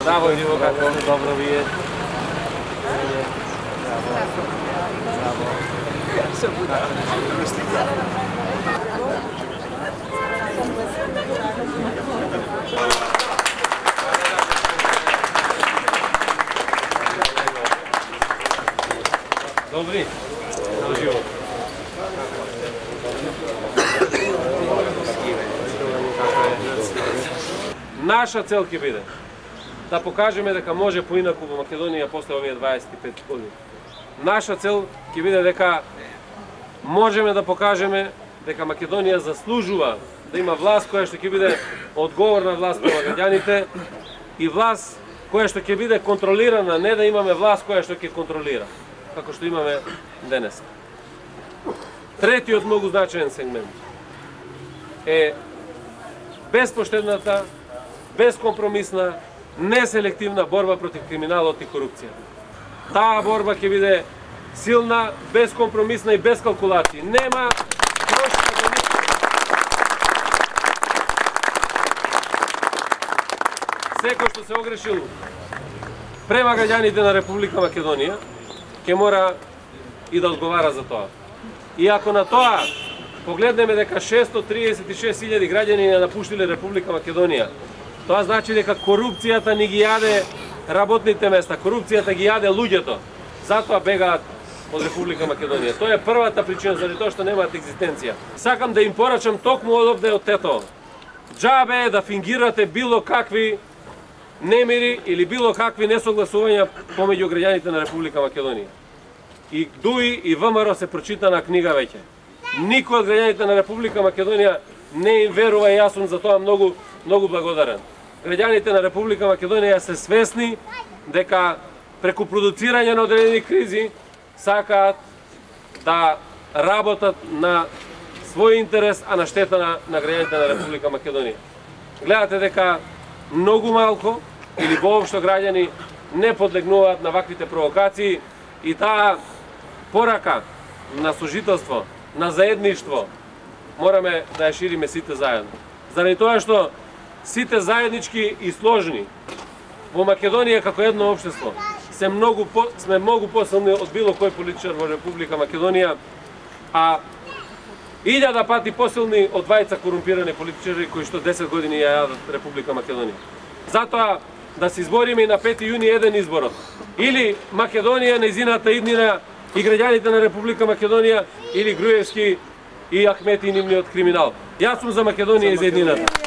Браво, Иво, како сте добро вие. Добри, живо. Наша цел ќе биде да покажеме дека може поинаку во Македонија после овие 25 години. Наша цел ќе биде дека можеме да покажеме дека Македонија заслужува да има власт која што ќе биде одговорна власт према граѓаните и власт која што ќе биде контролирана, не да имаме власт која што ќе контролира, како што имаме денес. Третиот многу значаен сегмент е безпоштедната, безкомпромисна, неселективна борба против криминалот и корупцијата. Таа борба ќе биде силна, безкомпромисна и без калкулации. Нема трошка за никого. Секој што се огрешил према граѓаните на Република Македонија ќе мора и да одговара за тоа. И ако на тоа погледнеме дека 636.000 граѓани не напуштиле Република Македонија, тоа значи дека корупцијата ни ги јаде работните места, корупцијата ги јаде луѓето. Затоа бегаат од Република Македонија. Тоа е првата причина заради тоа што немаат екзистенција. Сакам да им порачам токму одовде од Тето. Џабе е да фингирате било какви немири или било какви несогласувања помеѓу граѓаните на Република Македонија. И ДУИ и ВМРО се прочитана книга веќе. Никој од граѓаните на Република Македонија не им верува и јас сум за тоа многу благодарен. Граѓаните на Република Македонија се свесни дека преку продуцирање на одредени кризи сакаат да работат на свој интерес, а на штета на граѓаните на Република Македонија. Гледате дека многу малку или воопшто граѓани не подлегнуваат на ваквите провокации и таа порака на сожителство, на заедништво мораме да ја шириме сите заедно. Заради тоа што сите заеднички и сложни во Македонија како едно општество сме многу посилни од било кој политичар во Република Македонија, а 1000 пати посилни од двајца корумпирани политичари кои што 10 години ја јадат Република Македонија. Затоа да се избориме и на 5 јуни еден изборот. Или Македонија, нејзината иднина и граѓаните на Република Македонија, или Груевски и Ахмети и нивниот криминал. Јас сум за Македонија и за еднината.